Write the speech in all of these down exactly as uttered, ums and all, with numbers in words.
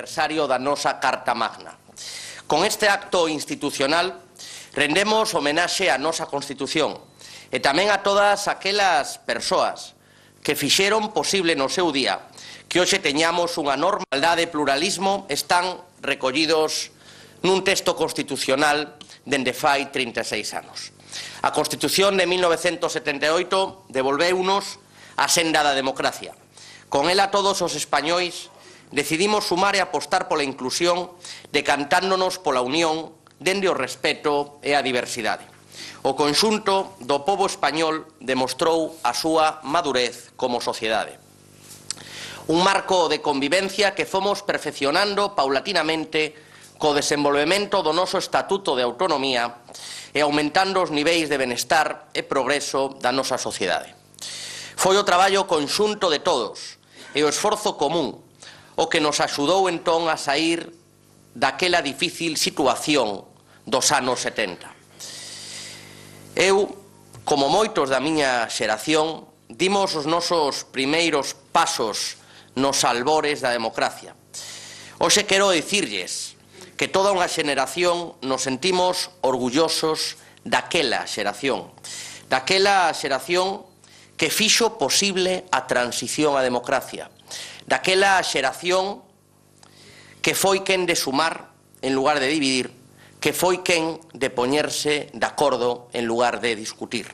aniversario da nosa Carta Magna. Con este acto institucional rendemos homenaxe á nosa Constitución e tamén a todas aquelas persoas que fixeron posible no seu día que hoxe teñamos unha norma de igualdade e pluralismo están recollidos nun texto constitucional dende fai trinta e seis anos. A Constitución de mil novecentos setenta e oito devolveunos a senda da democracia. Con ela todos os españois decidimos sumar e apostar pola inclusión, decantándonos pola unión dende o respeto e a diversidade. O conxunto do pobo español demostrou a súa madurez como sociedade. Un marco de convivencia que fomos perfeccionando paulatinamente co desenvolvemento do noso Estatuto de Autonomía e aumentando os niveis de benestar e progreso da nosa sociedade. Foi o traballo conxunto de todos e o esforzo común o que nos axudou entón a saír daquela difícil situación dos anos setenta. Eu, como moitos da miña xeración, dimos os nosos primeiros pasos nos albores da democracia. Hoxe quero dicirlles que toda unha xeración nos sentimos orgullosos daquela xeración, daquela xeración que fixo posible a transición á democracia, daquela xeración que foi quen de sumar en lugar de dividir, que foi quen de poñerse de acordo en lugar de discutir.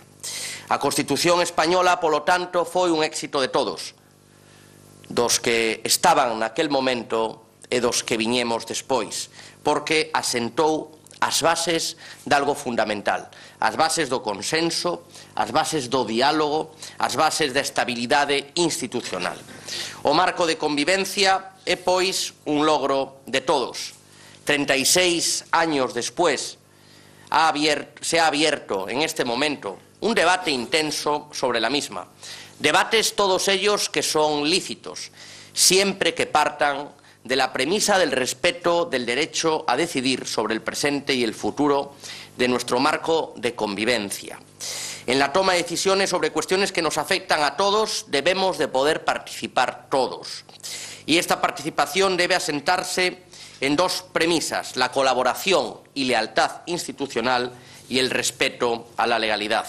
A Constitución española, polo tanto, foi un éxito de todos, dos que estaban naquel momento e dos que viñemos despois, porque asentou as bases de algo fundamental, as bases do consenso, as bases do diálogo, as bases da estabilidade institucional. O marco de convivencia é, pois, un logro de todos. treinta y seis años después ha abierto, se ha abierto en este momento un debate intenso sobre la misma. Debates todos ellos que son lícitos, siempre que partan de la premisa del respeto del derecho a decidir sobre el presente y el futuro de nuestro marco de convivencia. En la toma de decisiones sobre cuestiones que nos afectan a todos debemos de poder participar todos. Y esta participación debe asentarse en dos premisas: la colaboración y lealtad institucional y el respeto a la legalidad.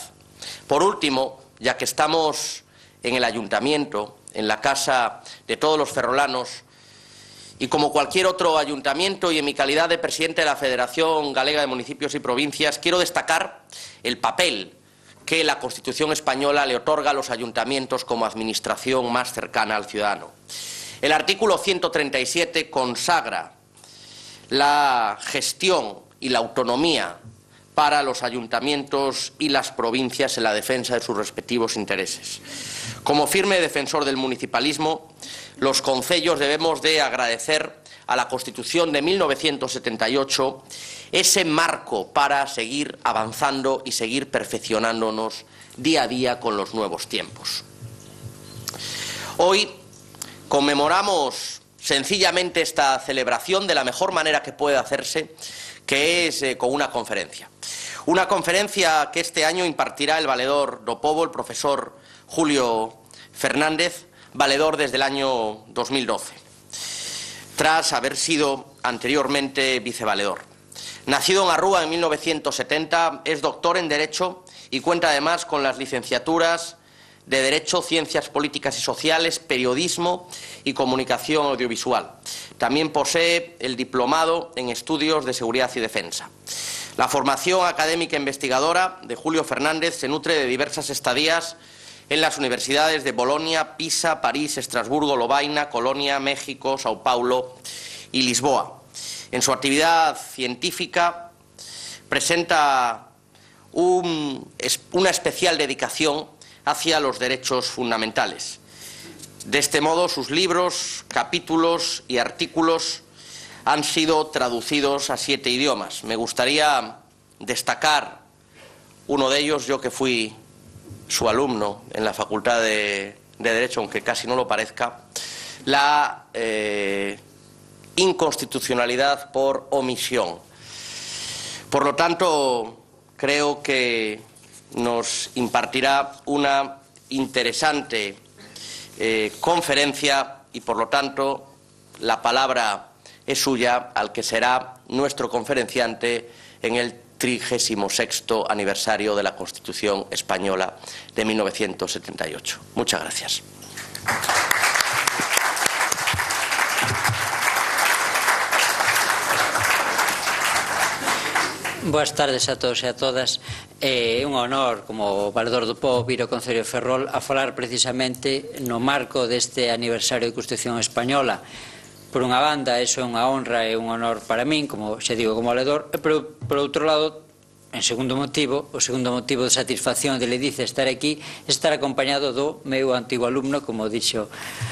Por último, ya que estamos en el ayuntamiento, en la casa de todos los ferrolanos, y como cualquier otro ayuntamiento y en mi calidad de presidente de la Federación Galega de Municipios y Provincias, quiero destacar el papel que la Constitución española le otorga a los ayuntamientos como administración más cercana al ciudadano. El artículo ciento treinta y siete consagra la gestión y la autonomía para los ayuntamientos y las provincias en la defensa de sus respectivos intereses. Como firme defensor del municipalismo, los concellos debemos de agradecer a la Constitución de mil novecientos setenta y ocho ese marco para seguir avanzando y seguir perfeccionándonos día a día con los nuevos tiempos. Hoy conmemoramos sencillamente esta celebración de la mejor manera que puede hacerse, que es eh, con una conferencia. Una conferencia que este año impartirá el valedor do Pobo, el profesor Julio Fernández, valedor desde el año dos mil doce, tras haber sido anteriormente vicevaledor. Nacido en Arrúa en mil novecientos setenta, es doctor en Derecho y cuenta además con las licenciaturas de Derecho, Ciencias Políticas y Sociales, Periodismo y Comunicación Audiovisual. También posee el diplomado en Estudios de Seguridad y Defensa. La formación académica e investigadora de Julio Fernández se nutre de diversas estadías en las universidades de Bolonia, Pisa, París, Estrasburgo, Lovaina, Colonia, México, Sao Paulo y Lisboa. En su actividad científica presenta un, una especial dedicación hacia los derechos fundamentales. De este modo, sus libros, capítulos y artículos han sido traducidos a siete idiomas. Me gustaría destacar uno de ellos, yo que fui su alumno en la Facultad de, de Derecho, aunque casi no lo parezca, la eh, inconstitucionalidad por omisión. Por lo tanto, creo que nos impartirá una interesante eh, conferencia y, por lo tanto, la palabra es suya al que será nuestro conferenciante en el trigésimo sexto aniversario de la Constitución Española de mil novecientos setenta y ocho. Muchas gracias. Boas tardes a todos e a todas. É un honor, como valedor do pobo, vir ao Concello de Ferrol a falar precisamente no marco deste aniversario de Constitución Española. Por unha banda, iso é unha honra e un honor para min, como xa digo, como valedor, e por, por outro lado, en segundo motivo, o segundo motivo de satisfacción de Ledicia estar aquí, estar acompañado do meu antigo alumno, como dixo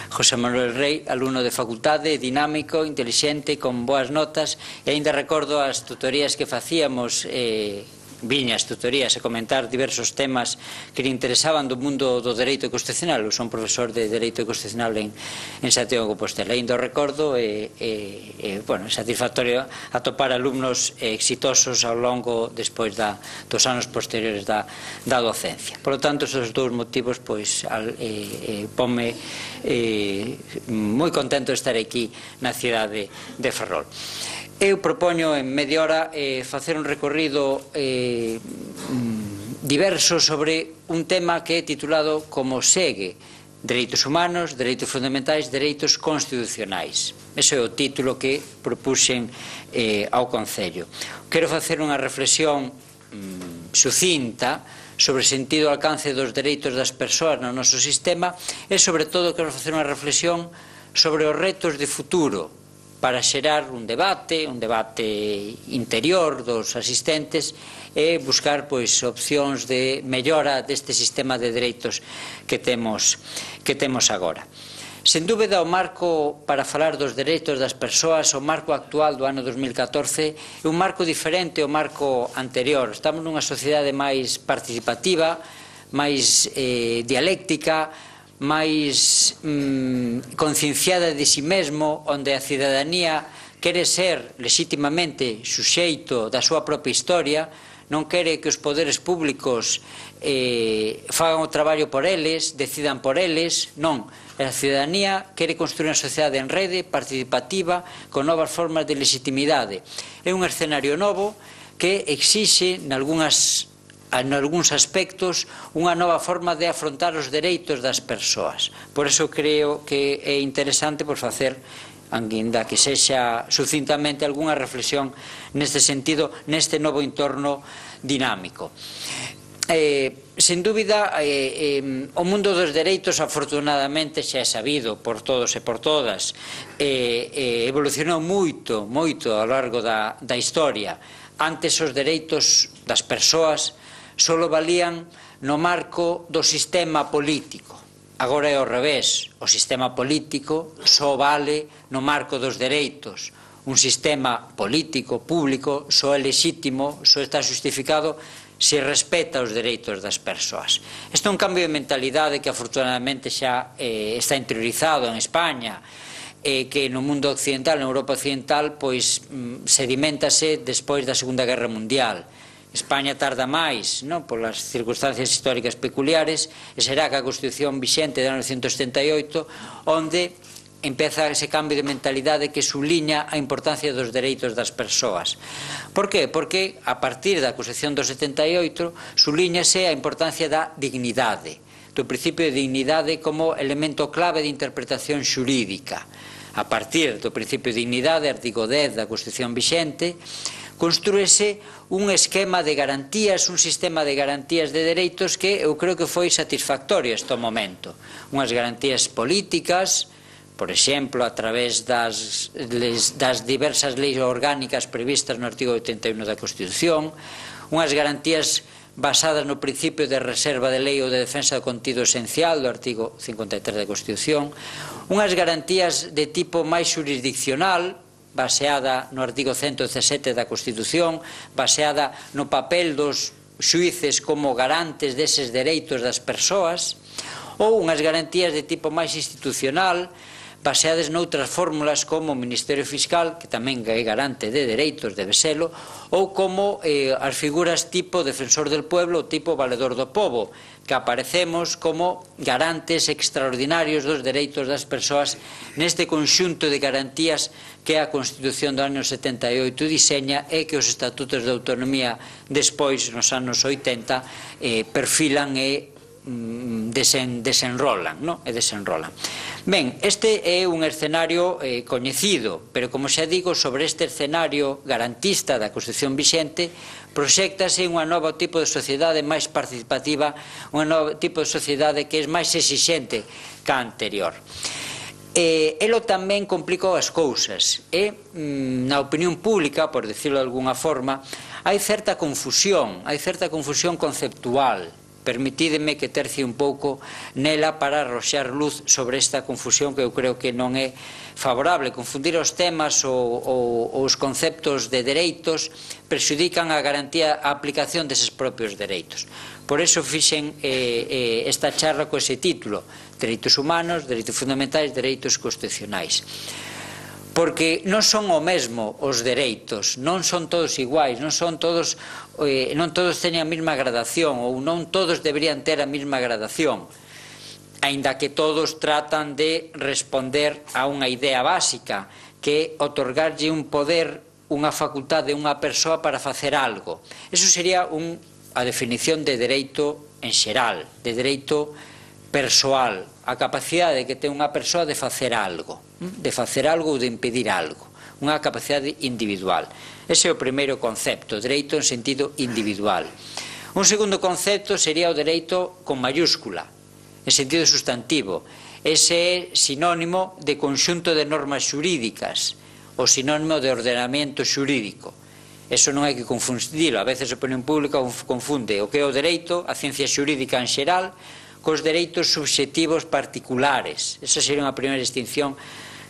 José Manuel Rey, alumno de facultade, dinámico, intelixente, con boas notas, e ainda recordo as tutorías que facíamos, eh, viñas tutorías a comentar diversos temas que lhe interesaban do mundo do dereito constitucional. Eu son profesor de dereito constitucional en, en Santiago de Compostela. Ainda o recordo e, e, e bueno, é satisfactorio atopar alumnos exitosos ao longo despois da, dos anos posteriores da, da docencia. Por lo tanto, esos dous motivos pois, al, eh, eh, ponme eh, moi contento de estar aquí na cidade de Ferrol. Eu propoño en media hora eh, facer un recorrido eh, diverso sobre un tema que é titulado como segue: Dereitos humanos, dereitos fundamentais, dereitos constitucionais. Ese é o título que propuxen eh, ao Concello. Quero facer unha reflexión mm, sucinta sobre o sentido e alcance dos dereitos das persoas no noso sistema e, sobre todo, quero facer unha reflexión sobre os retos de futuro para xerar un debate, un debate interior dos asistentes e buscar pois opcións de mellora deste sistema de dereitos que temos, que temos agora. Sen dúbida, o marco para falar dos dereitos das persoas, o marco actual do ano dos mil catorce, é un marco diferente ao marco anterior. Estamos nunha sociedade máis participativa, máis eh, dialéctica, máis mm, concienciada de si mesmo, onde a cidadanía quere ser legitimamente suxeito da súa propia historia, non quere que os poderes públicos eh, fagan o traballo por eles, decidan por eles, non. A cidadanía quere construir unha sociedade en rede, participativa, con novas formas de legitimidade. É un escenario novo que exixe, nalgúnas en algúns aspectos, unha nova forma de afrontar os dereitos das persoas. Por iso creo que é interesante por facer, ainda que sexa sucintamente, algunha reflexión neste sentido, neste novo entorno dinámico. Eh, sen dúbida, eh, eh, o mundo dos dereitos, afortunadamente, xa é sabido por todos e por todas, eh, eh, evolucionou moito, moito ao largo da, da historia. Antes, os dereitos das persoas só valían no marco do sistema político. Agora é ao revés. O sistema político só vale no marco dos dereitos. Un sistema político, público, só é lexítimo, só está justificado se respeta os dereitos das persoas. Isto é un cambio de mentalidade que afortunadamente xa eh, está interiorizado en España, e que no mundo occidental, na Europa occidental, pois sedimentase despois da Segunda Guerra Mundial. España tarda máis, non, polas circunstancias históricas peculiares, e será que a Constitución vixente de mil novecentos setenta e oito onde empeza ese cambio de mentalidade que subliña a importancia dos dereitos das persoas. Por qué? Porque a partir da Constitución do setenta e oito subliñase a importancia da dignidade, do principio de dignidade como elemento clave de interpretación xurídica. A partir do principio de dignidade, artigo dez da Constitución vixente, construíse un esquema de garantías, un sistema de garantías de dereitos que eu creo que foi satisfactorio este momento. Unhas garantías políticas, por exemplo, a través das, das diversas leis orgánicas previstas no artigo oitenta e un da Constitución, unhas garantías basadas no principio de reserva de lei ou de defensa do contido esencial do artigo cincuenta e tres da Constitución, unhas garantías de tipo máis xurisdiccional, baseada no artigo ciento dezasete da Constitución, baseada no papel dos xuíces como garantes deses dereitos das persoas, ou unhas garantías de tipo máis institucional, baseadas noutras fórmulas como o Ministerio Fiscal, que tamén é garante de dereitos, debe selo, ou como eh, as figuras tipo Defensor del Pueblo ou tipo Valedor do Pobo, que aparecemos como garantes extraordinarios dos dereitos das persoas neste conxunto de garantías que a Constitución do ano setenta e oito diseña e que os estatutos de autonomía despois, nos anos oitenta, eh, perfilan e Desen, desenrolan, no? e desenrolan. Ben, este é un escenario eh, coñecido, pero como xa digo, sobre este escenario garantista da Constitución vixente proxéctase un novo tipo de sociedade máis participativa, un novo tipo de sociedade que é máis exixente que a anterior. Eh, elo tamén complicou as cousas e, na opinión pública, por decirlo de alguna forma, hai certa confusión, hai certa confusión conceptual. Permitídeme que tercie un pouco nela para arroxar luz sobre esta confusión que eu creo que non é favorable. Confundir os temas ou, ou os conceptos de dereitos prexudican a garantía, a aplicación deses propios dereitos. Por eso fixen eh, eh, esta charla co ese título: Dereitos humanos, dereitos fundamentais, dereitos constitucionais. Porque non son o mesmo os dereitos, non son todos iguais, non son todos, eh, non todos teñen a mesma gradación ou non todos deberían ter a mesma gradación, aínda que todos tratan de responder a unha idea básica, que é otorgarlle un poder, unha facultade a unha persoa para facer algo. Eso sería un, a definición de dereito en xeral, de dereito persoal, a capacidade que ten unha persoa de facer algo, de facer algo ou de impedir algo, unha capacidade individual. Ese é o primeiro concepto, dereito en sentido individual. Un segundo concepto sería o dereito con mayúscula, en sentido sustantivo. Ese é sinónimo de conxunto de normas xurídicas, o sinónimo de ordenamento xurídico. Eso non hai que confundilo, a veces a opinión pública confunde o que é o dereito, a ciencia xurídica en xeral, cos dereitos subxectivos particulares. Esa sería unha primeira distinción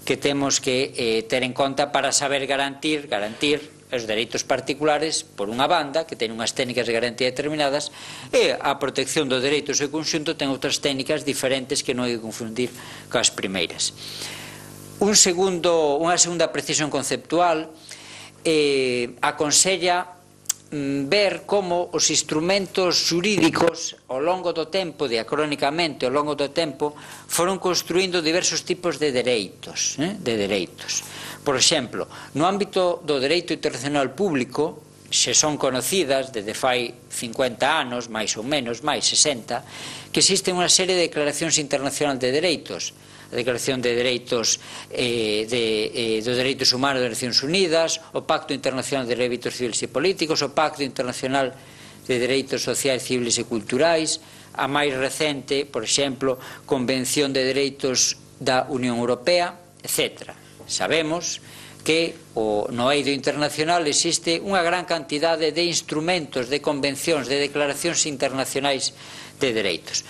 que temos que eh, ter en conta para saber garantir, garantir os dereitos particulares, por unha banda, que ten unhas técnicas de garantía determinadas, e a protección dos dereitos en conxunto ten outras técnicas diferentes que non hai que confundir coas primeiras. Un segundo, unha segunda precisión conceptual eh, aconsella ver como os instrumentos xurídicos ao longo do tempo, diacrónicamente ao longo do tempo, foron construindo diversos tipos de dereitos, eh, de dereitos. Por exemplo, no ámbito do dereito internacional público, se son conocidas desde fai cincuenta anos, máis ou menos, máis sesenta, que existe unha serie de declaracións internacionais de dereitos. A Declaración de Dereitos eh, de, eh, dos Dereitos Humanos das Nacións Unidas, o Pacto Internacional de Dereitos Civiles e Políticos, o Pacto Internacional de Dereitos Sociais, Civiles e Culturais, a máis recente, por exemplo, Convención de Dereitos da Unión Europea, etcétera. Sabemos que o, no eido internacional existe unha gran cantidade de instrumentos, de convencións, de declaracións internacionais de dereitos.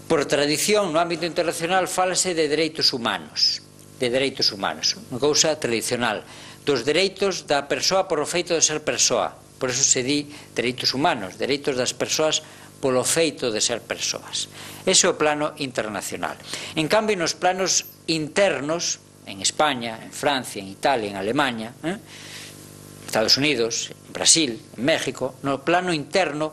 Por tradición, no ámbito internacional, fálase de dereitos humanos, de dereitos humanos, unha cousa tradicional, dos dereitos da persoa por o feito de ser persoa. Por eso se di dereitos humanos, dereitos das persoas polo feito de ser persoas. Ese é o plano internacional. En cambio, nos planos internos, en España, en Francia, en Italia, en Alemania, eh, Estados Unidos, en Brasil, en México, no plano interno,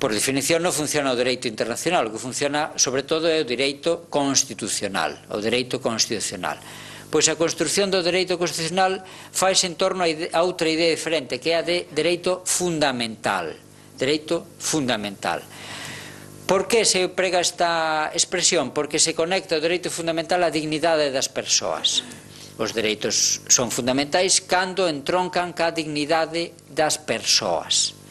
por definición non funciona o dereito internacional, o que funciona sobre todo é o dereito constitucional, o dereito constitucional. Pois a construción do dereito constitucional faise en torno a outra idea diferente, que é a de dereito fundamental, dereito fundamental. Por que se prega esta expresión? Porque se conecta o dereito fundamental á dignidade das persoas. Os dereitos son fundamentais cando entroncan ca dignidade das persoas.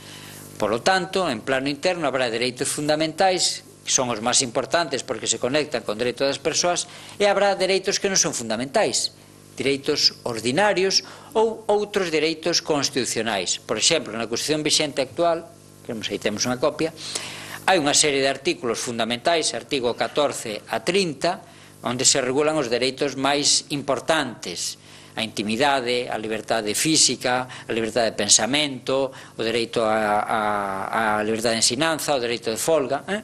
Por lo tanto, en plano interno habrá dereitos fundamentais, que son os máis importantes porque se conectan con dereitos das persoas, e habrá dereitos que non son fundamentais, dereitos ordinarios ou outros dereitos constitucionais. Por exemplo, na Constitución vixente actual, que aí temos unha copia, hai unha serie de artículos fundamentais, artigo catorce a trinta, onde se regulan os dereitos máis importantes, a intimidade, a liberdade física, a liberdade de pensamento, o dereito a, a, a liberdade de ensinanza, o dereito de folga. Eh?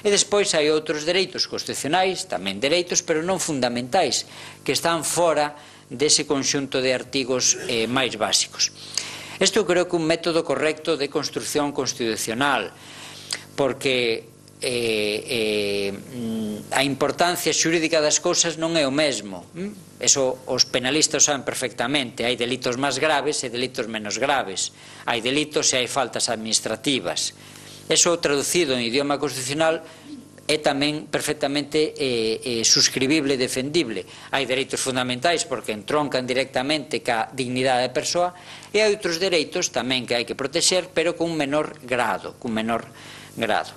E despois hai outros dereitos constitucionais, tamén dereitos, pero non fundamentais, que están fora dese conxunto de artigos eh, máis básicos. Isto creo que é un método correcto de construción constitucional, porque eh, eh, a importancia xurídica das cousas non é o mesmo. Eso os penalistas saben perfectamente. Hai delitos máis graves e delitos menos graves. Hai delitos e hai faltas administrativas. Eso traducido en idioma constitucional é tamén perfectamente eh, eh, suscribible e defendible. Hai dereitos fundamentais porque entroncan directamente ca dignidade da persoa e hai outros dereitos tamén que hai que protexer, pero con un menor grado, con menor grado.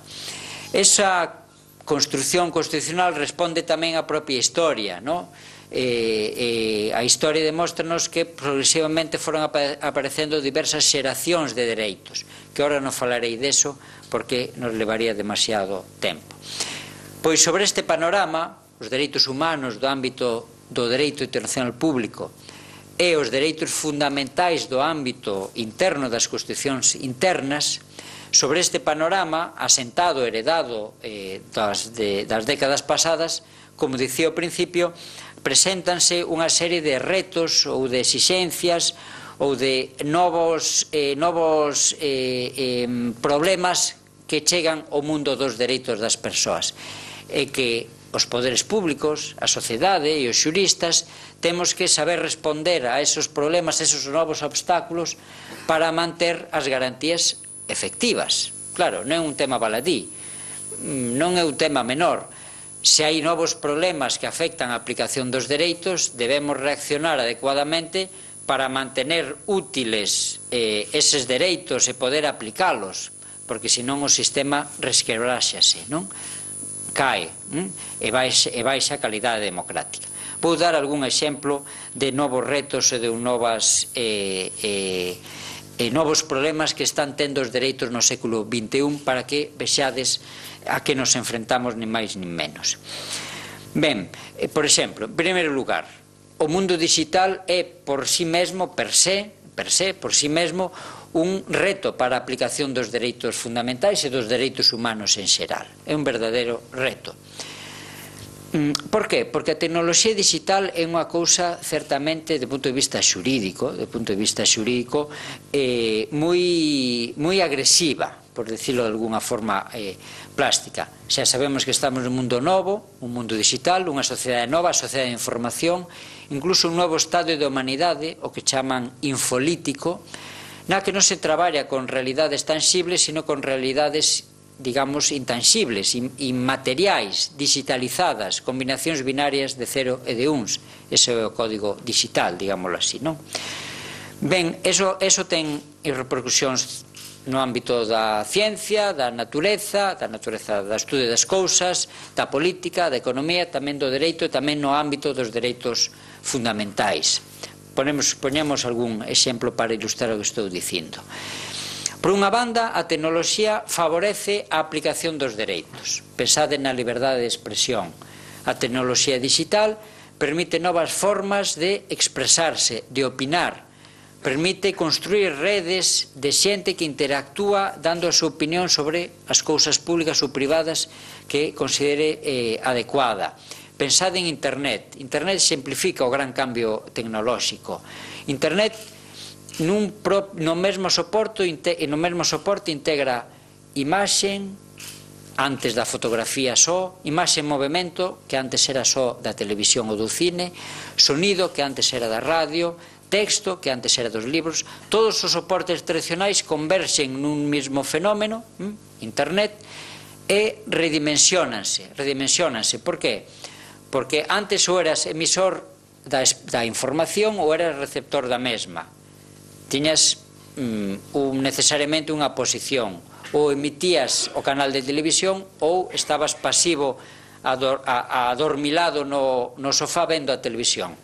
Esa construción constitucional responde tamén á propia historia, non? Eh, eh, a historia demóstranos que progresivamente foron aparecendo diversas xeracións de dereitos, que ahora non falarei deso porque nos levaría demasiado tempo. Pois sobre este panorama, os dereitos humanos do ámbito do dereito internacional público e os dereitos fundamentais do ámbito interno das constitucións internas, sobre este panorama asentado, heredado eh, das, de, das décadas pasadas, como dicía ao principio, preséntanse unha serie de retos ou de exixencias ou de novos, eh, novos eh, eh, problemas que chegan ao mundo dos dereitos das persoas e que os poderes públicos, a sociedade e os xuristas temos que saber responder a esos problemas, a esos novos obstáculos para manter as garantías efectivas. Claro, non é un tema baladí, non é un tema menor. Se hai novos problemas que afectan a aplicación dos dereitos, debemos reaccionar adecuadamente para mantener útiles eh, eses dereitos e poder aplicalos, porque senón o sistema resquebraxase, non? Cae, hm? e baixa, e baixa a calidade democrática. Vou dar algún exemplo de novos retos e de novas eh, eh, e novos problemas que están tendo os dereitos no século vinte e un para que vexades a que nos enfrentamos nin máis nin menos. Ben, por exemplo, en primeiro lugar, o mundo digital é por si mesmo, per se, per se, por si mesmo, un reto para a aplicación dos dereitos fundamentais e dos dereitos humanos en xeral. É un verdadeiro reto. Por qué? Porque a tecnoloxía digital é unha cousa certamente, de punto de vista xurídico, de punto de vista xurídico, eh, moi, moi agresiva, por decirlo de alguna forma eh, plástica. Xa sabemos que estamos nun mundo novo, un mundo digital, unha sociedade nova, a sociedade de información, incluso un novo estado de humanidade, o que chaman infolítico, na que non se traballa con realidades tangibles, sino con realidades, digamos, intangibles, inmateriais, digitalizadas, combinacións binarias de cero e de uns. Ese é o código digital, digámoslo así, non? Ben, eso, eso ten repercusións no ámbito da ciencia, da natureza, da natureza do estudo das cousas, da política, da economía, tamén do dereito e tamén no ámbito dos dereitos fundamentais. Ponemos, poñemos algún exemplo para ilustrar o que estou dicindo. Por unha banda, a tecnoloxía favorece a aplicación dos dereitos. Pensade na liberdade de expresión. A tecnoloxía digital permite novas formas de expresarse, de opinar, permite construir redes de xente que interactúa dando a súa opinión sobre as cousas públicas ou privadas que considere eh, adecuada. Pensade en Internet. Internet simplifica o gran cambio tecnolóxico. Internet Nun pro, no mesmo soporte no mesmo soporte integra imaxen antes da fotografía só, imaxe en movimento que antes era só da televisión ou do cine, sonido que antes era da radio, texto que antes era dos libros. Todos os soportes tradicionais converxen nun mesmo fenómeno, hm, internet, e redimensionanse, redimensionanse. Por qué? Porque antes ou eras emisor da, da información ou eras receptor da mesma. Tiñas mm, un, necesariamente unha posición, ou emitías o canal de televisión ou estabas pasivo ador, a, a adormilado no, no sofá vendo a televisión.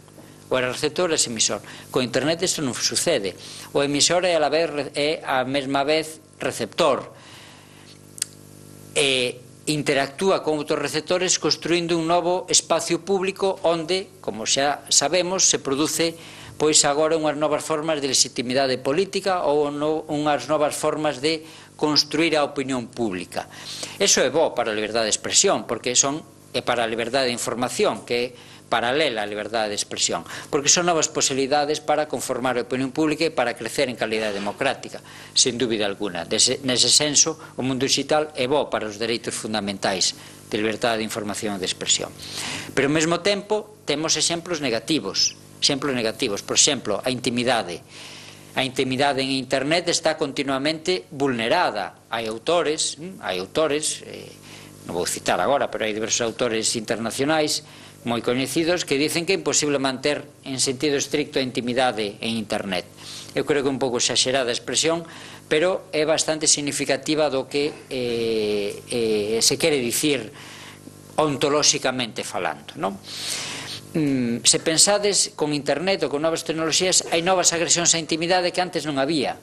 O era receptor ou era emisor. Con internet isto non sucede. O emisor é a, la vez, é a mesma vez receptor. E interactúa con outros receptores construindo un novo espacio público onde, como xa sabemos, se produce pois agora unhas novas formas de legitimidade política ou unhas novas formas de construir a opinión pública. Eso é bo para a liberdade de expresión, porque son e para a liberdade de información, que é paralela á liberdade de expresión, porque son novas posibilidades para conformar a opinión pública e para crecer en calidade democrática, sen dúbida alguna. Nese senso, o mundo digital é bo para os dereitos fundamentais de liberdade de información e de expresión. Pero ao mesmo tempo, temos exemplos negativos, exemplos negativos, por exemplo, a intimidade. A intimidade en internet está continuamente vulnerada. Hai autores, hai autores, eh, non vou citar agora, pero hai diversos autores internacionais moi coñecidos que dicen que é imposible manter en sentido estricto a intimidade en internet. Eu creo que é un pouco exagerada a expresión, pero é bastante significativa do que eh, eh, se quere dicir ontolóxicamente falando, non? Mm, se pensades con internet ou con novas tecnoloxías, hai novas agresións á intimidade que antes non había.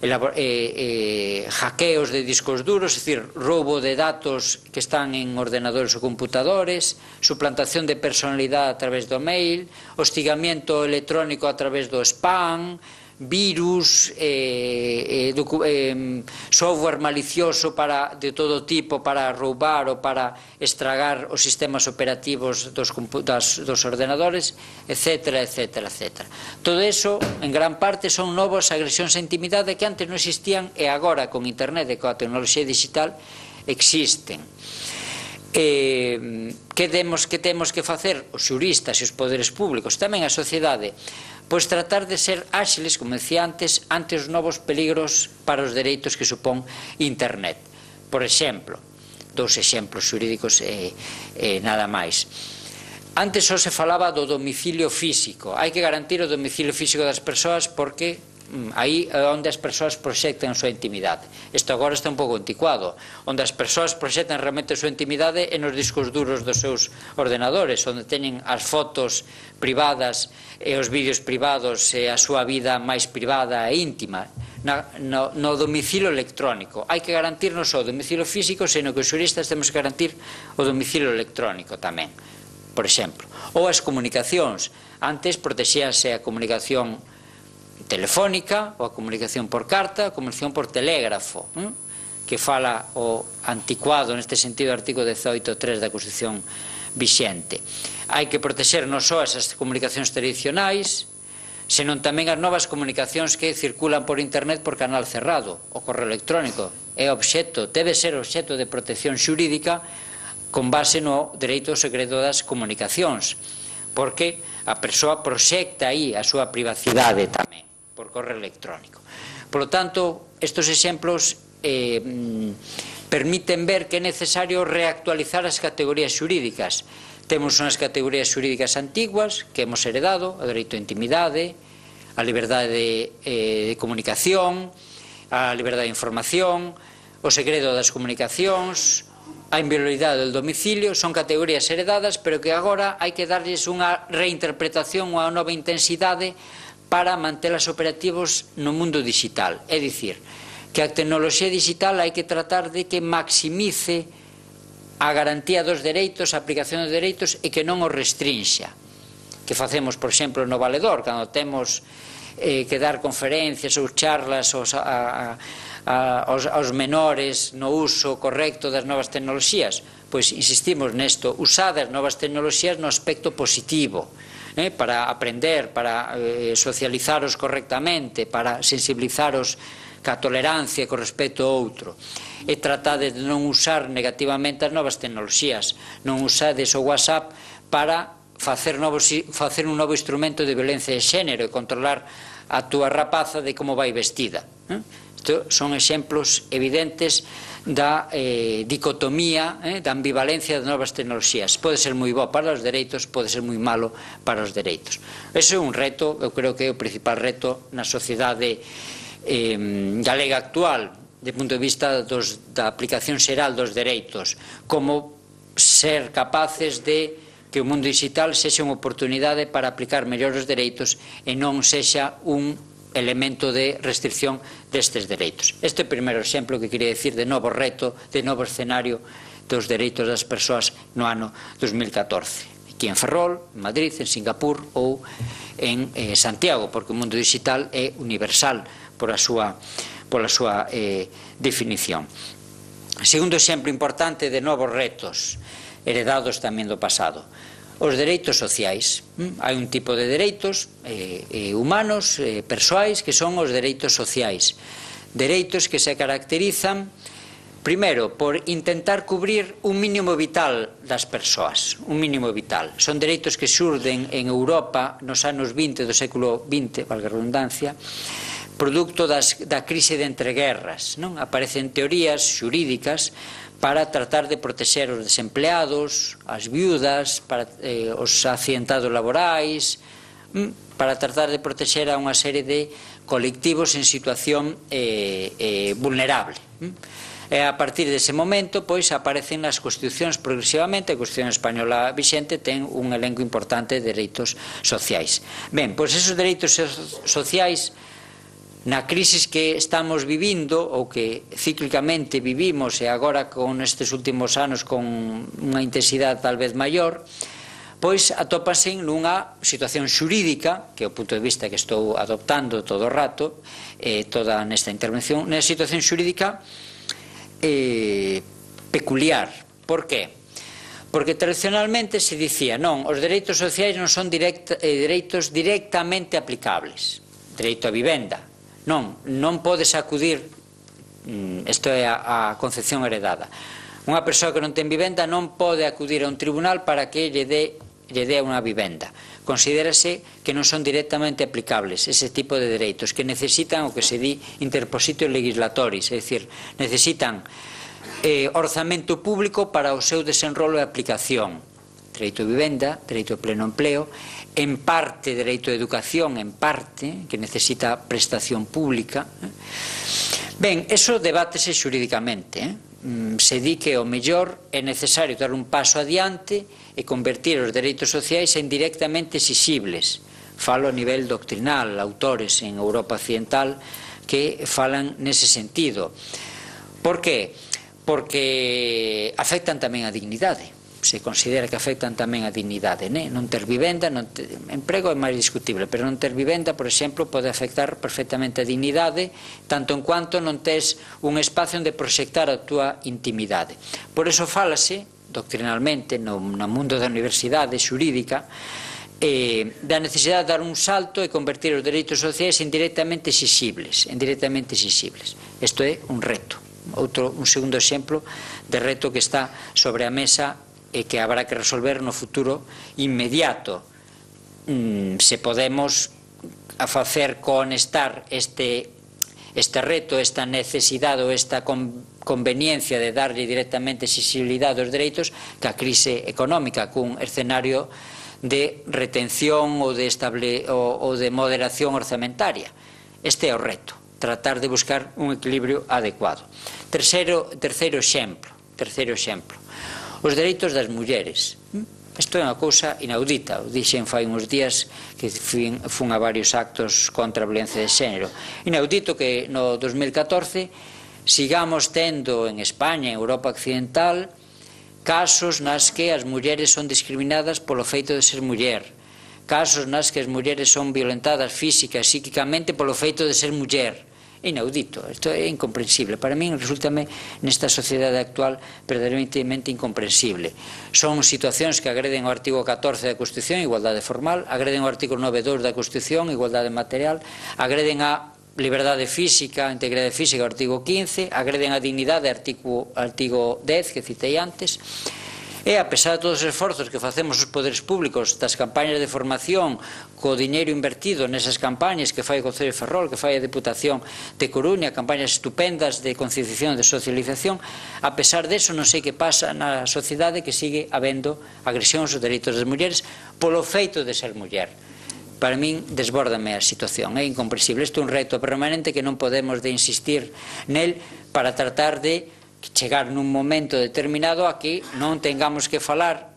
Eh, eh, hackeos de discos duros, é dicir, roubo de datos que están en ordenadores ou computadores, suplantación de personalidade a través do mail, hostigamiento electrónico a través do spam, virus, eh, eh, eh, software malicioso para, de todo tipo para roubar ou para estragar os sistemas operativos dos, das, dos ordenadores, etcétera, etcétera, etcétera. Todo eso, en gran parte, son novas agresións á intimidade que antes non existían e agora, con internet e coa tecnoloxía digital, existen. Eh, que, demos, que temos que facer os xuristas e os poderes públicos, tamén a sociedade? Pois tratar de ser áxiles, como decía antes, ante os novos peligros para os dereitos que supón internet. Por exemplo, dous exemplos xurídicos e, e nada máis. Antes só se falaba do domicilio físico. Hai que garantir o domicilio físico das persoas porque aí é onde as persoas proxectan a súa intimidade. Isto agora está un pouco anticuado. Onde as persoas proxectan realmente a súa intimidade é nos discos duros dos seus ordenadores, onde teñen as fotos privadas e os vídeos privados e a súa vida máis privada e íntima. Na, no, no domicilio electrónico. Hai que garantir non só o domicilio físico, senón que os xuristas temos que garantir o domicilio electrónico tamén, por exemplo. Ou as comunicacións. Antes protexíase a comunicación telefónica ou a comunicación por carta, a comunicación por telégrafo, ¿eh? Que fala o anticuado neste sentido artigo dezoito punto tres da Constitución vixente. Hai que protexer non só esas comunicacións tradicionais, senón tamén as novas comunicacións que circulan por internet por canal cerrado. O correo electrónico é obxecto, debe ser obxecto de protección xurídica con base no dereito ao segredo das comunicacións, porque a persoa proxecta aí a súa privacidade tamén por correo electrónico. Por lo tanto, estes exemplos eh, permiten ver que é necesario reactualizar as categorías xurídicas. Temos unhas categorías xurídicas antiguas que hemos heredado, o dereito á intimidade, a liberdade de, eh, de comunicación, a liberdade de información, o segredo das comunicacións, a inviolabilidade do domicilio, son categorías heredadas, pero que agora hai que darlles unha reinterpretación, unha nova intensidade para mantelas operativos no mundo digital. É dicir, que a tecnoloxía digital hai que tratar de que maximice a garantía dos dereitos, a aplicación dos dereitos e que non os restrinxa. Que facemos, por exemplo, no Valedor, cando temos eh, que dar conferencias ou charlas aos, a, a, aos, aos menores no uso correcto das novas tecnoloxías, pois insistimos nesto, usar as novas tecnoloxías no aspecto positivo, eh, para aprender, para eh, socializaros correctamente, para sensibilizaros ca tolerancia con respecto ao outro, e tratade de non usar negativamente as novas tecnoloxías, non usades o WhatsApp para facer, novos, facer un novo instrumento de violencia de xénero e controlar a túa rapaza de como vai vestida. Isto son exemplos evidentes da eh, dicotomía, eh, da ambivalencia das novas tecnoloxías. Pode ser moi bo para os dereitos, pode ser moi malo para os dereitos. Ese é un reto, eu creo que é o principal reto na sociedade eh, galega actual, de punto de vista dos, da aplicación xeral dos dereitos, como ser capaces de que o mundo digital sexa unha oportunidade para aplicar mellor os dereitos e non sexa un elemento de restricción destes dereitos. Este é o primeiro exemplo que quería decir de novo reto, de novo escenario dos dereitos das persoas no ano dos mil catorce. aquí en Ferrol, en Madrid, en Singapur ou en eh, Santiago, porque o mundo digital é universal por a súa, por a súa eh, definición. Segundo exemplo importante de novos retos heredados tamén do pasado, os dereitos sociais. Hai un tipo de dereitos eh, eh, humanos, eh, persoais, que son os dereitos sociais. Dereitos que se caracterizan, primeiro, por intentar cubrir un mínimo vital das persoas, un mínimo vital. Son dereitos que xurden en Europa nos anos vinte do século vinte, valga a redundancia, producto das, da crise de entreguerras, non? Aparecen teorías xurídicas para tratar de protexer os desempleados, as viudas, para, eh, os accidentados laborais, para tratar de protexer a unha serie de colectivos en situación eh, eh, vulnerable. E a partir dese momento, pois, aparecen as constitucións progresivamente. A Constitución española vixente ten un elenco importante de dereitos sociais. Ben, pois esos dereitos sociais, na crisis que estamos vivindo, ou que cíclicamente vivimos, e agora con estes últimos anos con unha intensidade tal vez maior, pois atópanse nunha situación xurídica, que é o punto de vista que estou adoptando todo o rato, eh, toda nesta intervención, nunha situación xurídica eh, peculiar. Por qué? Porque tradicionalmente se dicía, non, os dereitos sociais non son directa, eh, dereitos directamente aplicables. Dereito a vivenda. Non, non podes acudir, isto é a, a concepción heredada. Unha persoa que non ten vivenda non pode acudir a un tribunal para que lle dé lle dé unha vivenda. Considérase que non son directamente aplicables ese tipo de dereitos, que necesitan o que se di interpositio legislatoris, é dicir, necesitan eh, orzamento público para o seu desenrolo e aplicación. Dereito a vivenda, dereito a pleno empleo, en parte dereito a educación, en parte, que necesita prestación pública. Ben, eso debátese xurídicamente, eh? Se di que o mellor é necesario dar un paso adiante e convertir os dereitos sociais en directamente exixibles. Falo a nivel doctrinal, autores en Europa occidental que falan nese sentido. Por que? Porque afectan tamén a dignidade. Se considera que afectan tamén a dignidade, né? Non ter vivenda, non ter emprego é máis discutible, pero non ter vivenda, por exemplo, pode afectar perfectamente a dignidade, tanto en cuanto non tes un espacio onde proxectar a túa intimidade. Por eso fálase, doctrinalmente, no, no mundo da universidade xurídica, eh, da necesidade de dar un salto e convertir os dereitos sociais en directamente exixibles, en directamente exixibles. Isto é un reto. Outro, un segundo exemplo de reto que está sobre a mesa e que habrá que resolver no futuro inmediato. Mm, se podemos a facer conectar este, este reto, esta necesidade ou esta conveniencia de darlle directamente exigibilidade aos dereitos que a crise económica, cun escenario de retención ou de, estable, ou, ou de moderación orzamentaria. Este é o reto, tratar de buscar un equilibrio adecuado. Terceiro, terceiro exemplo, terceiro exemplo. Os dereitos das mulleres. Isto é unha cousa inaudita. O dixen fai uns días que fun, fun a varios actos contra a violencia de xénero. Inaudito que no dos mil catorce sigamos tendo en España, en Europa occidental, casos nas que as mulleres son discriminadas polo feito de ser muller, casos nas que as mulleres son violentadas física e psíquicamente polo feito de ser muller. Inaudito, isto é incomprensible. Para min resultame nesta sociedade actual verdadeiramente incomprensible. Son situacións que agreden o artigo catorce da Constitución, igualdade formal, agreden o artigo nove punto dous da Constitución, igualdade material, agreden a liberdade física, a integridade física, o artigo quince, agreden a dignidade, artigo, artigo dez, que citei antes. E, a pesar de todos os esforzos que facemos os poderes públicos, das campañas de formación, co diñeiro invertido nesas campañas que fai o Concello de Ferrol, que fai a Deputación de Coruña, campañas estupendas de concienciación, de socialización, a pesar deso non sei que pasa na sociedade, que sigue habendo agresións aos dereitos das mulleres polo feito de ser muller. Para min desbórdame a situación, é incomprensible. Isto é un reto permanente que non podemos de insistir nel para tratar de chegar nun momento determinado a que non tengamos que falar,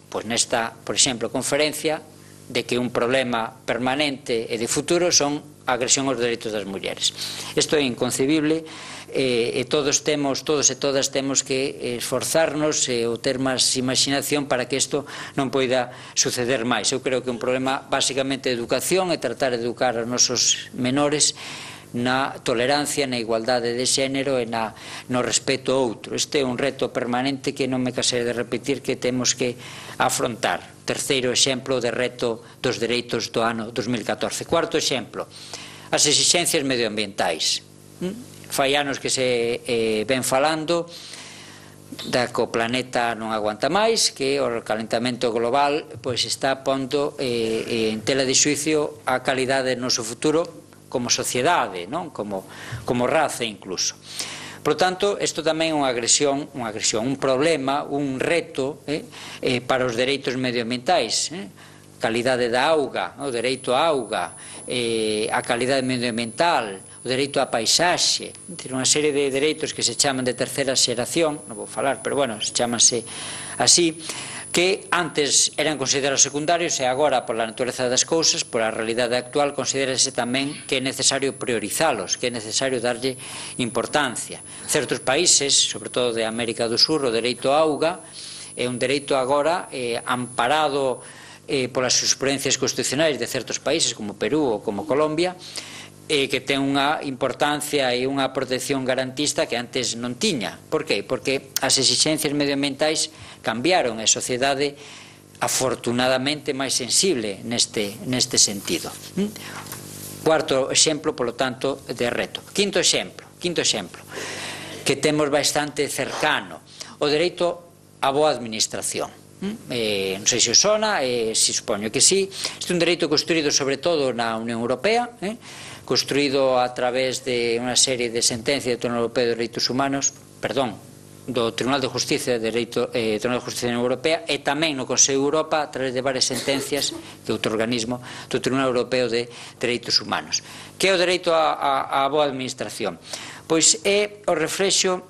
pois nesta, por exemplo, conferencia, de que un problema permanente e de futuro son a agresión aos dereitos das mulleres. Isto é inconcebible, e todos temos, todos e todas temos que esforzarnos ou ter máis imaginación para que isto non poida suceder máis. Eu creo que é un problema basicamente de educación e tratar de educar aos nosos menores na tolerancia, na igualdade de xénero e na, no respeto ao outro. Este é un reto permanente que non me casei de repetir que temos que afrontar. Terceiro exemplo de reto dos dereitos do ano dos mil catorce. Cuarto exemplo, as exixencias medioambientais. Fai anos que se eh, ven falando da que o planeta non aguanta máis, que o calentamento global pois está pondo eh, en tela de xuicio a calidade do noso futuro como sociedade, non? Como, como raza incluso. Por tanto, isto tamén é unha agresión, unha agresión, un problema, un reto eh, eh, para os dereitos medioambientais. Eh? Calidade da auga, o dereito á auga, eh, a calidade medioambiental, o dereito á paisaxe, unha serie de dereitos que se chaman de terceira xeración, non vou falar, pero bueno, se chamanse así, que antes eran considerados secundarios e agora, pola natureza das cousas, pola realidade actual, considérase tamén que é necesario priorizalos, que é necesario darlle importancia. Certos países, sobre todo de América do Sur, o dereito á auga é un dereito agora eh, amparado eh, polas jurisprudencias constitucionais de certos países como Perú ou como Colombia, e que ten unha importancia e unha protección garantista que antes non tiña. Por que? Porque as exixencias medioambientais cambiaron e a sociedade afortunadamente máis sensible neste, neste sentido. Cuarto exemplo, polo tanto, de reto. Quinto exemplo, quinto exemplo, que temos bastante cercano, o dereito á boa administración. Eh, non sei se os sona, eh, se supoño que sí. Este é un dereito construído sobre todo na Unión Europea, eh, construído a través de unha serie de sentencias do Tribunal Europeo de Dereitos Humanos, perdón, do Tribunal de Justicia de Dereito, eh, Tribunal de Justicia da Unión Europea, e tamén no Consello de Europa a través de varias sentencias de outro organismo do Tribunal Europeo de Dereitos Humanos. Que é o dereito á, á, á boa administración? Pois é o reflexo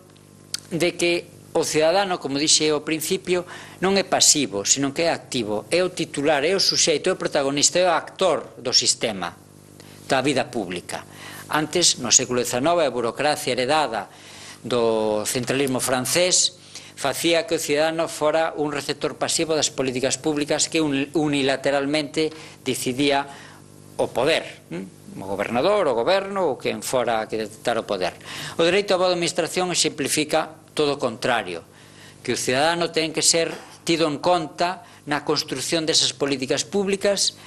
de que o cidadano, como dixe ao principio, non é pasivo, sino que é activo, é o titular, é o suxeito, é o protagonista, é o actor do sistema da vida pública. Antes, no século dezenove, a burocracia heredada do centralismo francés facía que o cidadano fora un receptor pasivo das políticas públicas que unilateralmente decidía o poder, o gobernador, o goberno ou quen fora que detectar o poder. O dereito á boa administración exemplifica todo o contrario, que o cidadano ten que ser tido en conta na construción desas políticas públicas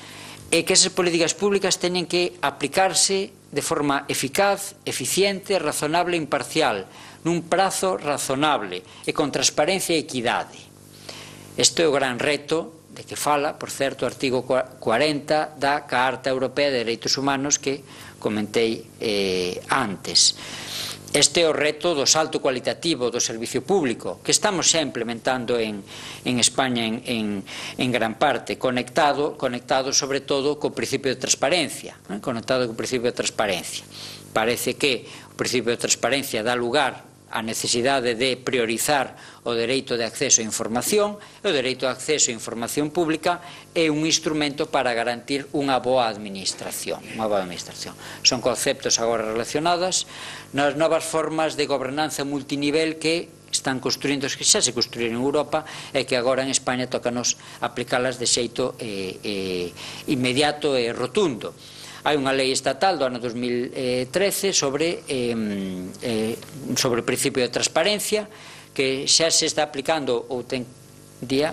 e que esas políticas públicas teñen que aplicarse de forma eficaz, eficiente, razonable e imparcial, nun prazo razonable e con transparencia e equidade. Este é o gran reto de que fala, por certo, o artigo cuarenta da Carta Europea de Dereitos Humanos que comentei eh, antes. Este é o reto do salto cualitativo do servicio público que estamos xa implementando en, en España en, en, en gran parte, conectado, conectado sobre todo co principio de transparencia, eh? conectado co principio de transparencia. Parece que o principio de transparencia dá lugar a necesidade de priorizar o dereito de acceso a información e o dereito de acceso a información pública é un instrumento para garantir unha boa administración. Unha boa administración. Son conceptos agora relacionados nas novas formas de gobernanza multinivel que están construindo, que xa se construíron en Europa e que agora en España tócanos aplicalas de xeito eh, eh, inmediato e rotundo. Hai unha lei estatal do ano dos mil trece sobre, eh, eh, sobre o principio de transparencia que xa se está aplicando ou ten día,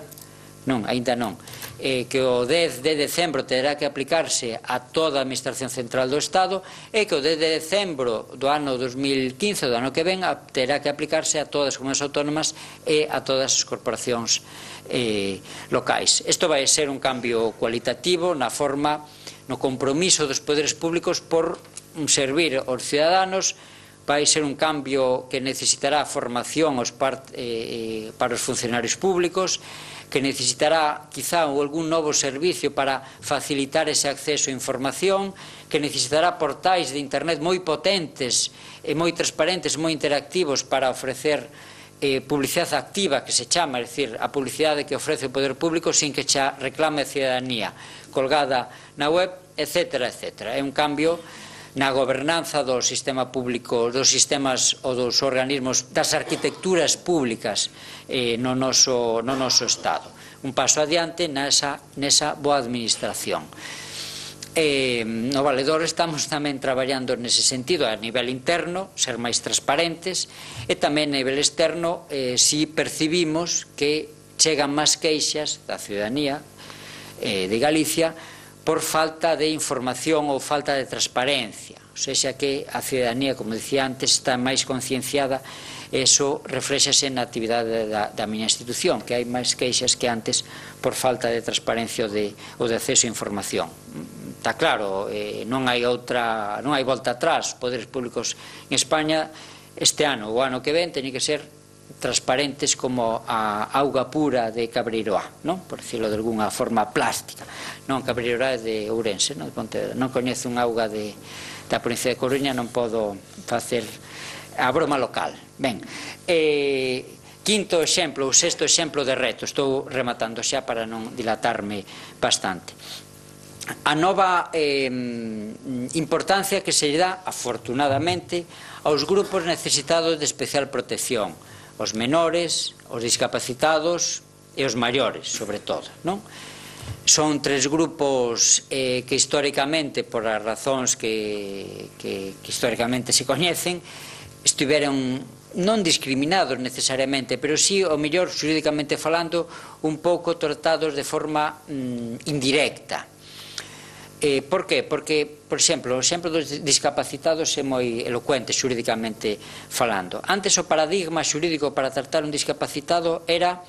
non, aínda non, eh, que o dez de decembro terá que aplicarse a toda a Administración Central do Estado e que o dez de decembro do ano dos mil quince, do ano que ven, terá que aplicarse a todas as comunidades autónomas e a todas as corporacións eh, locais. Isto vai ser un cambio cualitativo na forma, no compromiso dos poderes públicos por servir aos ciudadanos. Vai ser un cambio que necesitará formación aos part, eh, para os funcionarios públicos, que necesitará quizá algún novo servicio para facilitar ese acceso a información, que necesitará portais de internet moi potentes e moi transparentes, moi interactivos para ofrecer eh, publicidade activa, que se chama, é dicir, a publicidade que ofrece o poder público sin que xa reclame a ciudadanía, colgada na web, etcétera, etcétera. É un cambio na gobernanza do sistema público, dos sistemas ou dos organismos, das arquitecturas públicas eh, no, noso, no noso Estado. Un paso adiante nesa, nesa boa administración. Eh, no Valedor estamos tamén traballando nese sentido a nivel interno, ser máis transparentes, e tamén a nivel externo eh, si percibimos que chegan máis queixas da ciudadanía eh, de Galicia por falta de información ou falta de transparencia, ou seja que a ciudadanía, como dicía antes, está máis concienciada. Eso reflexase na actividade da, da miña institución, que hai máis queixas que antes por falta de transparencia ou de, ou de acceso a información. Está claro, eh, non hai outra, non hai volta atrás. Os poderes públicos en España este ano ou ano que ven teñen que ser transparentes como a auga pura de Cabreiroá, non? Por dicirlo de alguna forma plástica. Non, Cabreiroá é de Ourense, non, non coñezo un auga de, da provincia de Coruña, non podo facer a broma local. Ben, eh, quinto exemplo, ou sexto exemplo de reto, estou rematando xa para non dilatarme bastante. A nova eh, importancia que se lle dá, afortunadamente, aos grupos necesitados de especial protección, os menores, os discapacitados e os maiores, sobre todo, non? Son tres grupos eh, que históricamente, por as razóns que, que, que históricamente se coñecen, estiveron non discriminados necesariamente, pero sí, o mellor, xurídicamente falando, un pouco tratados de forma mm, indirecta. Eh, por qué? Porque, por exemplo, o exemplo dos discapacitados é moi elocuente xurídicamente falando. Antes o paradigma xurídico para tratar un discapacitado era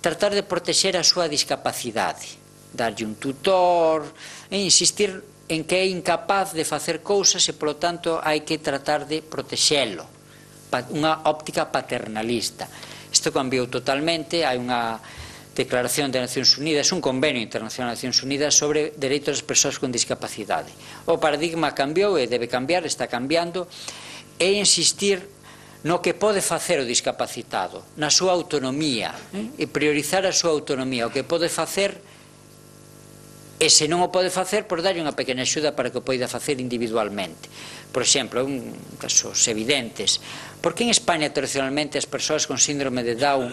tratar de protexer a súa discapacidade, darlle un tutor, e insistir en que é incapaz de facer cousas e, polo tanto, hai que tratar de protexelo. Unha óptica paternalista. Isto cambiou totalmente, hai unha Declaración de Nacións Unidas, un convenio internacional de Nacións Unidas sobre dereitos das persoas con discapacidade. O paradigma cambiou e debe cambiar, está cambiando, e insistir no que pode facer o discapacitado, na súa autonomía, eh? e priorizar a súa autonomía, o que pode facer, e se non o pode facer, por darlle unha pequena axuda para que o poida facer individualmente. Por exemplo, un casos evidentes, por que en España tradicionalmente as persoas con síndrome de Down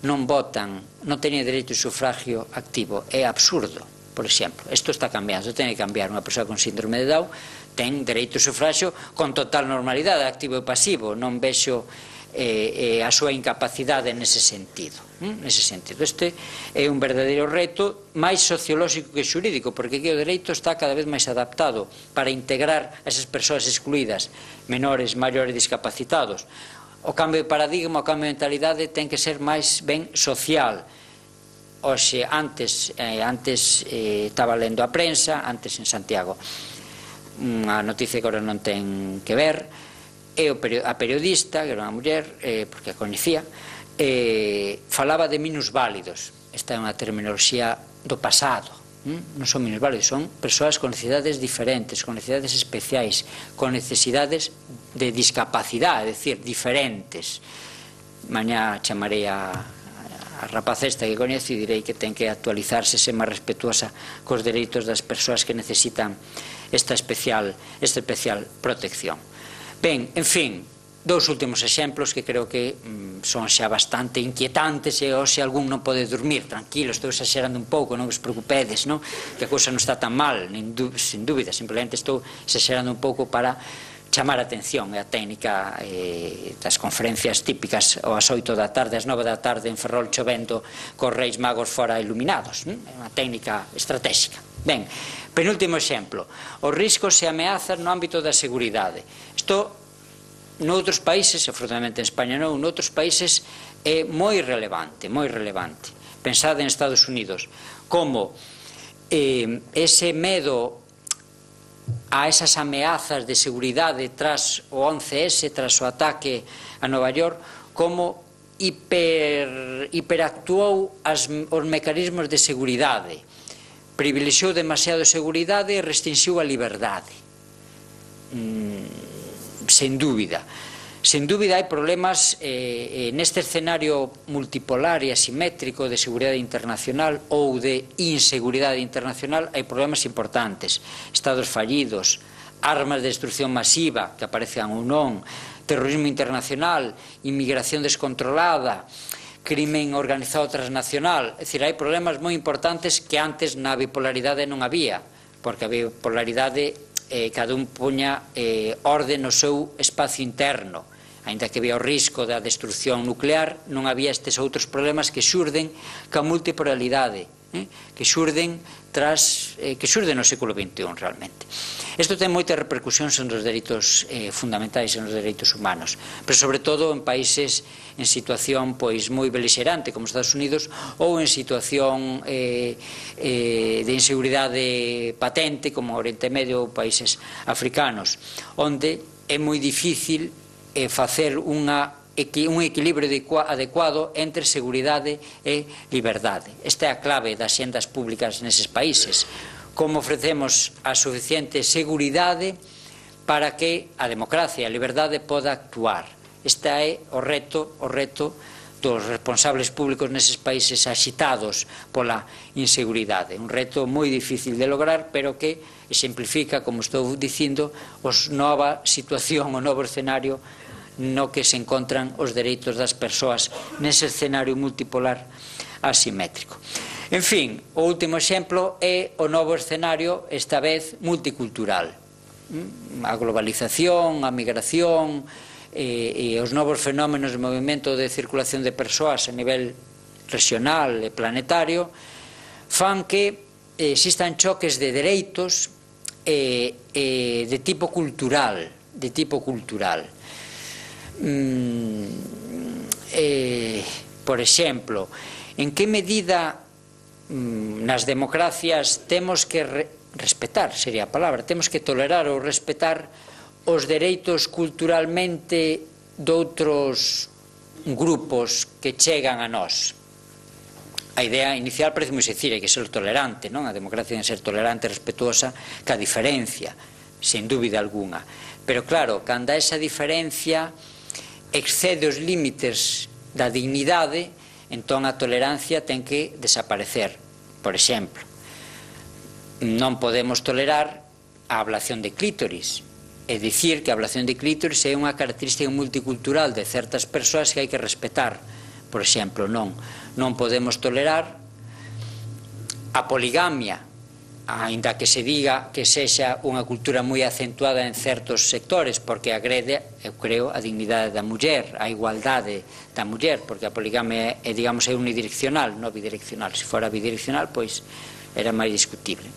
non votan, non teñen dereito de sufragio activo? É absurdo, por exemplo. Isto está cambiando, ten que cambiar. Unha persoa con síndrome de Down ten dereito de sufragio con total normalidade, activo e pasivo. Non vexo eh, eh, a súa incapacidade nese sentido. ¿Mm? Nese sentido. Este é un verdadeiro reto máis sociolóxico que xurídico, porque aquí o dereito está cada vez máis adaptado para integrar a esas persoas excluídas, menores, maiores, discapacitados. O cambio de paradigma, o cambio de mentalidade ten que ser máis ben social. Oxe, antes, eh, antes eh, estaba lendo a prensa, antes en Santiago, unha noticia que agora non ten que ver, e a periodista, que era unha muller, eh, porque a coñecía, eh, falaba de minusválidos. Esta é unha terminoloxía do pasado. Non son minusválidos, son persoas con necesidades diferentes, con necesidades especiais, con necesidades de discapacidade, é dicir, diferentes. Mañá chamarei a, a rapaz esta que coñezo e direi que ten que actualizarse, ser máis respetuosa cos dereitos das persoas que necesitan esta especial, esta especial protección. Ben, en fin, dous últimos exemplos que creo que mm, son xa bastante inquietantes, e hoxe algún non pode dormir. Tranquilo, estou exagerando un pouco, non vos preocupedes, non? Que a cousa non está tan mal, nin sin dúbida, simplemente estou exagerando un pouco para chamar a atención. É a técnica eh, das conferencias típicas ás oito da tarde, ás nove da tarde en Ferrol chovendo, cos Reis Magos fora iluminados. Non? É unha técnica estratégica. Ben, penúltimo exemplo, os riscos e ameazas no ámbito da seguridade. Isto noutros países, afortunadamente en España non, noutros países é moi relevante, moi relevante. Pensade en Estados Unidos, como eh, ese medo a esas ameazas de seguridade tras o once ese, tras o ataque a Nova York, como hiper, hiperactuou as, os mecanismos de seguridade, privilexiou demasiado seguridade e restringiu a liberdade. Mm, sen dúbida. Sen dúbida hai problemas eh, neste escenario multipolar e asimétrico de seguridade internacional ou de inseguridade internacional, hai problemas importantes. Estados fallidos, armas de destrucción masiva que aparezcan ou non, terrorismo internacional, inmigración descontrolada, crimen organizado transnacional. É dicir, hai problemas moi importantes que antes na bipolaridade non había, porque a bipolaridade eh, cada un puña eh, orde no seu espacio interno. Ainda que había o risco da destrucción nuclear, non había estes outros problemas que xurden ca multipolaridade, eh, que xurden tras, eh, que xurden no século vinte e un realmente. Isto ten moitas repercusións nos dereitos eh, fundamentais e nos dereitos humanos, pero sobre todo en países en situación pois moi beligerante como Estados Unidos ou en situación eh, eh, de inseguridade patente como Oriente Medio ou países africanos, onde é moi difícil eh, facer unha un equilibrio adecuado entre seguridade e liberdade. Esta é a clave das xendas públicas neses países. Como ofrecemos a suficiente seguridade para que a democracia e a liberdade poda actuar. Este é o reto, o reto dos responsables públicos neses países axitados pola inseguridade. Un reto moi difícil de lograr, pero que exemplifica, como estou dicindo, a nova situación, o novo escenario no que se encontran os dereitos das persoas nese escenario multipolar asimétrico. En fin, o último exemplo é o novo escenario, esta vez multicultural. A globalización, a migración e, e os novos fenómenos de movimento de circulación de persoas a nivel regional e planetario fan que existan choques de dereitos eh, eh, de tipo cultural, de tipo cultural. Mm, eh, por exemplo, en que medida mm, nas democracias temos que re, respetar, sería a palabra, temos que tolerar ou respetar os dereitos culturalmente doutros grupos que chegan a nós. A idea inicial parece moi sencilla, que ser tolerante, non? A democracia debe ser tolerante e respetuosa ca diferencia, sen dúbida alguna. Pero claro, cando esa diferencia excede os límites da dignidade, entón a tolerancia ten que desaparecer. Por exemplo, non podemos tolerar a ablación de clítoris, é dicir que a ablación de clítoris é unha característica multicultural de certas persoas que hai que respetar. Por exemplo, non, non podemos tolerar a poligamia, aínda que se diga que sexa unha cultura moi acentuada en certos sectores, porque agrede, eu creo, a dignidade da muller, a igualdade da muller, porque a poligamia é, digamos, é unidireccional, non bidireccional. Se fora bidireccional, pois era máis discutible.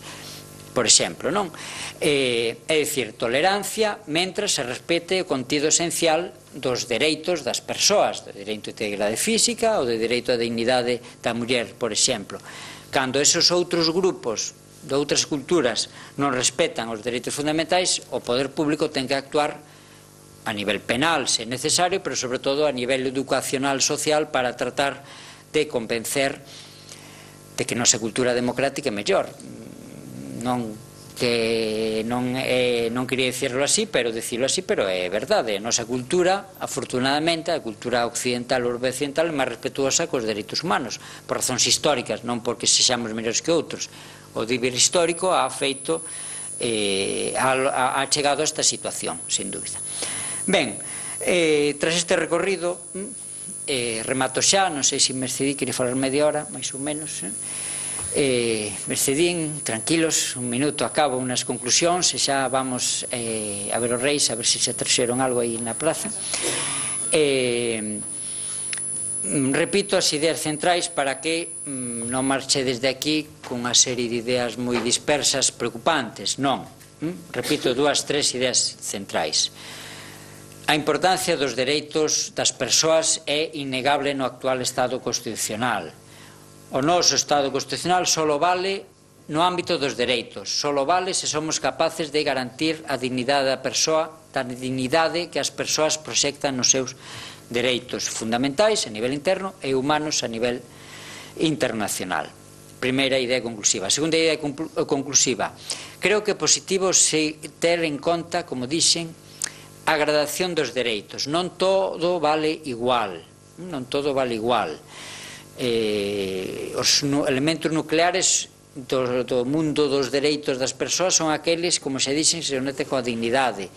Por exemplo, non? É, é dicir, tolerancia mentras se respete o contido esencial dos dereitos das persoas, do dereito de integridade física ou do dereito á dignidade da muller, por exemplo. Cando esos outros grupos de outras culturas non respetan os dereitos fundamentais, o poder público ten que actuar a nivel penal, se necesario, pero sobre todo a nivel educacional social para tratar de convencer de que nosa cultura democrática é mellor. Non que non, é, non quería dicirlo así, pero dicirlo así, pero é verdade. A nosa cultura, afortunadamente, a cultura occidental ou occidental é máis respetuosa cos dereitos humanos, por razóns históricas, non porque sexamos mellores que outros. O deber histórico ha feito, eh, ha, ha chegado a esta situación, sin dúbida. Ben, eh, tras este recorrido, eh, remato xa, non sei se me excedí, quería falar media hora, máis ou menos, eh? Eh, Mercedín, tranquilos, un minuto, acabo unas conclusións e xa vamos eh, a ver os reis, a ver se se traxeron algo aí na plaza. Eh, repito as ideas centrais para que mm, non marche desde aquí con unha serie de ideas moi dispersas, preocupantes, non. Mm? Repito dúas, tres ideas centrais. A importancia dos dereitos das persoas é innegable no actual Estado Constitucional. O noso Estado Constitucional só vale no ámbito dos dereitos, só vale se somos capaces de garantir a dignidade da persoa, da dignidade que as persoas proxectan nos seus dereitos fundamentais a nivel interno e humanos a nivel internacional. Primeira idea conclusiva. Segunda idea conclusiva. Creo que é positivo se ter en conta, como dixen, a gradación dos dereitos. Non todo vale igual. Non todo vale igual. Eh, os elementos nucleares do, do mundo dos dereitos das persoas son aqueles, como se dixen, se conectan coa dignidade,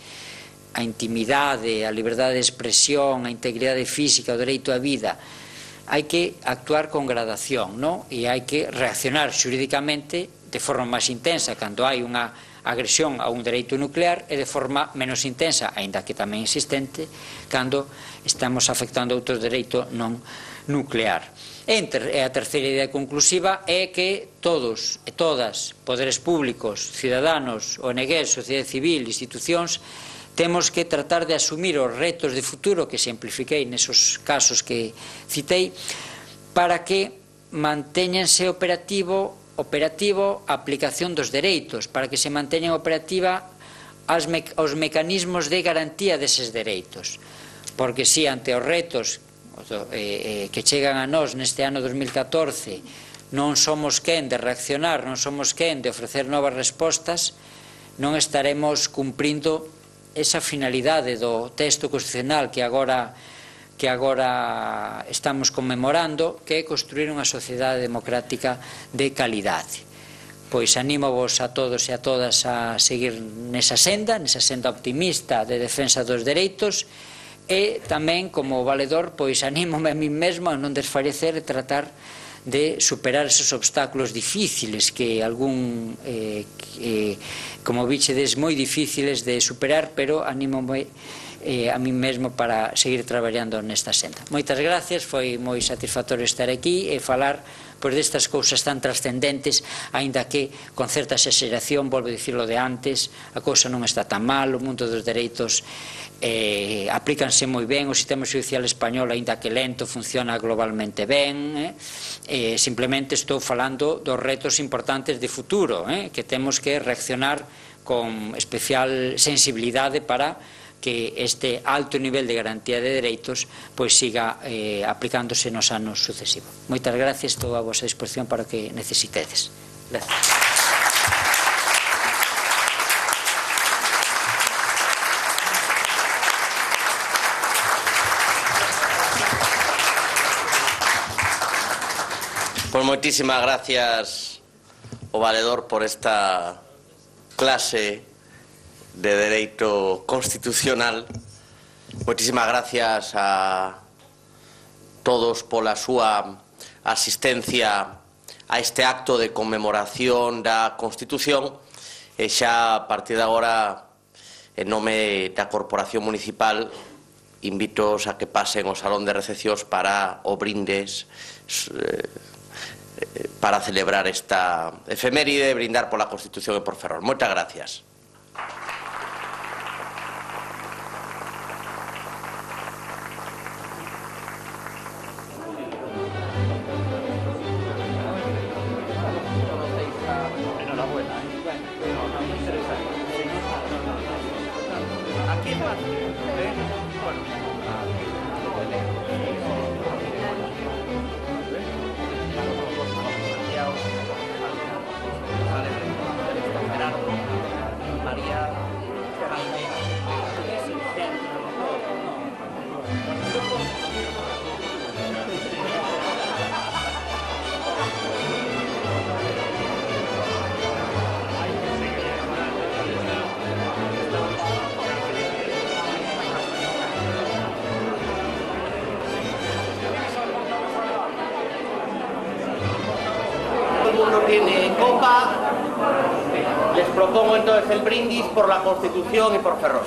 a intimidade, a liberdade de expresión, a integridade física, o dereito á vida. Hai que actuar con gradación, non? E hai que reaccionar xurídicamente de forma máis intensa cando hai unha agresión a un dereito nuclear e de forma menos intensa, aínda que tamén existente, cando estamos afectando outro dereito non nuclear. E a terceira idea conclusiva é que todos e todas, poderes públicos, cidadanos, O N Gs, sociedade civil, institucións, temos que tratar de asumir os retos de futuro que simplifiquei nesos casos que citei para que mantéñanse operativo operativo a aplicación dos dereitos, para que se manteñan operativa as me, os mecanismos de garantía deses dereitos, porque si ante os retos eh, eh, que chegan a nós neste ano dos mil catorce non somos quen de reaccionar, non somos quen de ofrecer novas respostas, non estaremos cumprindo esa finalidade do texto constitucional que agora que agora estamos conmemorando, que é construir unha sociedade democrática de calidade. Pois animo-vos a todos e a todas a seguir nesa senda, nesa senda optimista de defensa dos dereitos, e tamén, como valedor, pois anímome a mí mesmo a non desfalecer e tratar de superar esos obstáculos difíciles que algún, eh, eh, como bichedes, moi difíciles de superar, pero anímome eh, a mí mesmo para seguir traballando nesta senda. Moitas gracias, foi moi satisfactorio estar aquí e falar pois destas cousas tan trascendentes, aínda que con certa exageración, volvo a dicirlo de antes, a cousa non está tan mal, o mundo dos dereitos eh, aplícanse moi ben, o sistema judicial español, aínda que lento, funciona globalmente ben, eh? Eh, simplemente estou falando dos retos importantes de futuro, eh? que temos que reaccionar con especial sensibilidade para que este alto nivel de garantía de dereitos pois siga eh, aplicándose nos anos sucesivos. Moitas gracias, estou a vosa disposición para o que necesitedes. Gracias. Pois moitísimas gracias ao valedor por esta clase de Dereito Constitucional. Moitísimas gracias a todos pola súa asistencia a este acto de conmemoración da Constitución, e xa a partir de agora, en nome da Corporación Municipal, invitos a que pasen ao Salón de Recepcións para o brindes para celebrar esta efeméride e brindar pola Constitución e por Ferrol. Moitas gracias. Tiene copa. Les propongo entonces el brindis por la Constitución y por Ferrol.